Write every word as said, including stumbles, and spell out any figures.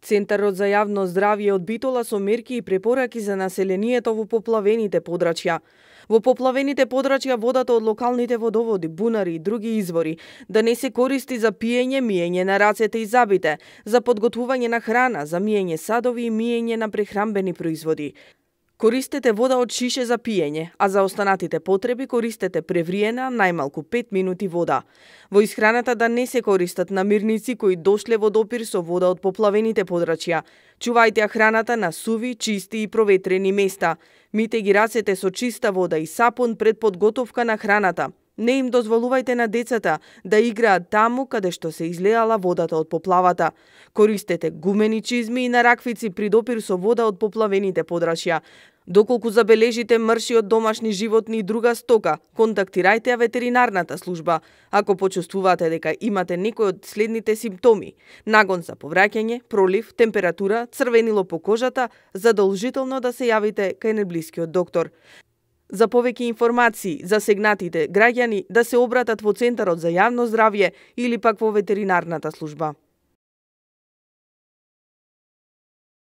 Центарот за јавно здравје од Битола со мерки и препораки за населението во поплавените подрачја. Во поплавените подрачја водата од локалните водоводи, бунари и други извори да не се користи за пиење, миење на рацете и забите, за подготвување на храна, за миење садови и миење на прехранбени производи. Користете вода од шише за пиење, а за останатите потреби користете превриена најмалку пет минути вода. Во исхраната да не се користат намирници кои дошле во допир со вода од поплавените подрачја. Чувајте ја храната на суви, чисти и проветрени места. Мите ги рацете со чиста вода и сапун пред подготовка на храната. Не им дозволувајте на децата да играат таму каде што се излеала водата од поплавата. Користете гумени чизми и нараквици при допир со вода од поплавените подрачја. Доколку забележите мрши од домашни животни и друга стока, контактирајте ја ветеринарната служба. Ако почувствувате дека имате некој од следните симптоми: нагон за повраќање, пролив, температура, црвенило по кожата, задолжително да се јавите кај најблискиот доктор. За повеќе информации, засегнатите граѓани да се обратат во Центарот за јавно здравје или пак во ветеринарната служба.